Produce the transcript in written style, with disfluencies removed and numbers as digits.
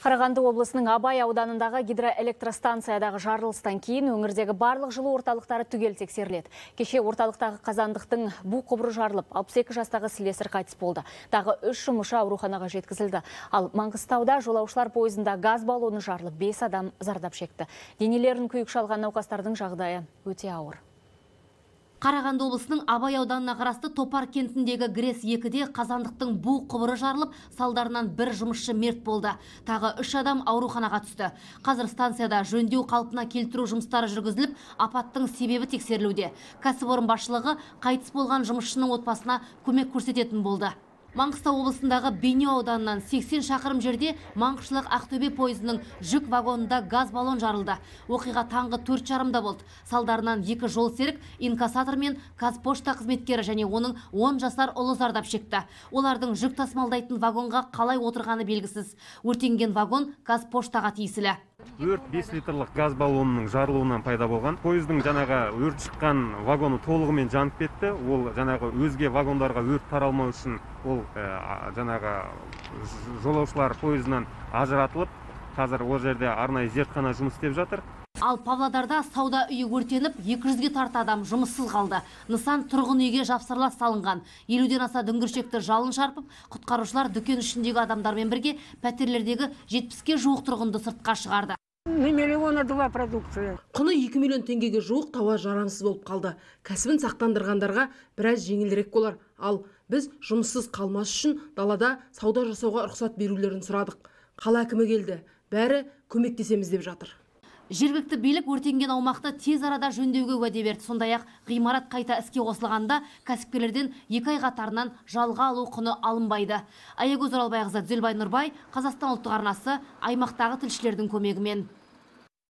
Қарағанды облысының Абай ауданындағы гидроэлектростанциядағы жарылыстан кейін өңірдегі барлық жылу орталықтары түгел тексеріледі. Кеше орталықтағы қазандықтың бу құбыры жарылып, 62 жастағы слесарь қайтыс болды. Тағы 3 жұмысшы ауруханаға жеткізілді. Ал Маңғыстауда жолаушылар пойызында газ баллоны жарылып, 5 адам зардап шекті. Денелерін күйік шалған науқастардың жағдайы өте ауыр. Қарағанды облысының Абай ауданына қарасты Топар кентіндегі ГРЭС 2-де қазандықтың бу құбыры жарылып, салдарынан бір жұмысшы мерт болды. Тағы 3 адам ауруханаға түсті. Қазір станцияда жөндеу қалпына келтіру жұмыстары жүргізіліп, апаттың себебі тексерілуде. Кәсіпорын басшылығы қайтыс болған жұмысшының отбасына көмек көрсететін болды. Маңғыстау облысындағы Бейнеу ауданынан 80 шақырым жерде Маңғышлақ Ақтөбе пойызының жүк вагонында газ баллон жарылды. Оқиға таңғы 4:30-да болды. Салдарынан 2 жол серік, инкассатор мен Қазпошта қызметкері және оның 10 жасар ұлы зардап шекті. Олардың жүк тасымалдайтын вагонға қалай отырғаны белгісіз. Өртенген вагон Қазпоштаға тиесілі. Өрт 5 литрлік газ баллонының жарылуынан пайда болған. Пойыздың жаңағы өрт шыққан вагоны толығымен жанып кетті. Ол жаңағы өзге вагондарға өрт таралмау үшін ол жаңағы жолаушылар пойызынан ажыратылып, қазір ол жерде арнайы зертхана жұмыс істеп жатыр. Ал Павлодарда сауда үйі өртеніп, 200-ге тарта адам жұмыссыз қалды. Нысан тұрғын үйге жапсарлас салынған. 50-ден аса дүңгіршекті жалын шарпып, құтқарушылар дүкен ішіндегі адамдармен бірге пәтерлердегі 70-ке жуық тұрғынды сыртқа шығарды. Миллиона два продукция. Құны 2 миллион теңгеге жуық тауар жарамсыз болып қалды. Кәсібін сақтандырғандарға біраз жеңілірек болар. Ал біз жұмыссыз қалмас үшін далада сауда жасауға рұқсат берулерін сұрадық. Қала әкімі келді. Бәрі көмектесеміз деп жатыр. Жергілікті билік өртенген аумақты тез арада жөндеуге уәде берді. Сондай-ақ ғимарат қайта іске қосылғанда кәсіпкерлерден 2 ай қатарынан жалға алу құны алынбайды. Аягөз Оралбайқызы, Дүзелбай Нұрбай, Қазақстан ұлттық арнасы, аймақтағы тілшілердің көмегімен.